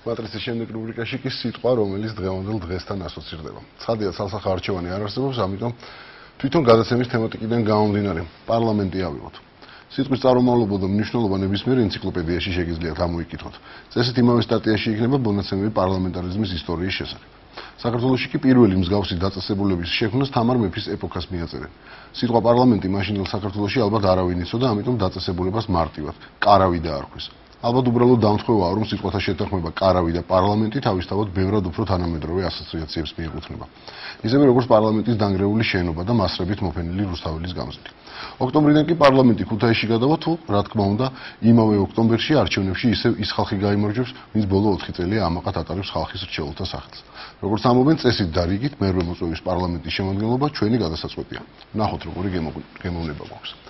მატრიცის შემდეგ რუბრიკაში კი სიტყვა, რომელიც დღევანდელ დღესთან ასოცირდება. ცხადია, ცალსახა არჩევანი არ არსებობს, ამიტომ თვითონ გადაცემის თემატიკიდან გამომდინარე, პარლამენტი ავიღოთ. სიტყვის წარმომავლობა და მნიშვნელობა ნებისმიერ ენციკლოპედიაში შეგიძლიათ ამოიკითხოთ. წესით იმავე სტატიაში იქნება მონაცემები პარლამენტარიზმის ისტორიის შესახებ. საქართველოში კი პირველი მსგავსი დაწესებულების შექმნას თამარ მეფის ეპოქას მიაწერენ. სიტყვა პარლამენტი მაშინდელ საქართველოში ალბათ არავინ იცოდა, ამიტომ დაწესებულებას მარტივად კარავი დაარქვეს. ალბათ უბრალოდ დამთხოვაა, რომ სიტყვათა შეთანხმება კარავი და პარლამენტი თავისთავად ბევრად უფრო თანამედროვე ასოციაციებს მიეკუთვნება. ისევე როგორც პარლამენტის დანგრეული შენობა და მასრებით მოფენილი რუსთაველის გამზირი. ოქტომბრიდან კი პარლამენტი ქუთაისში გადავა თუ, რა თქმა უნდა, იმავე ოქტომბერში არჩევნებში ისევ ის ხალხი გაიმარჯვებს, ვინც ბოლო 4 წელია ამაყად ატარებს ხალხის რჩეულთა სახელს. როგორც ამობენ წესით და რიგით, მერვე მოწვევის პარლამენტის შემადგენლობა ჩვენი გადასაწყვეტია. ნახოთ, როგორი გემოვნება გვაქვს.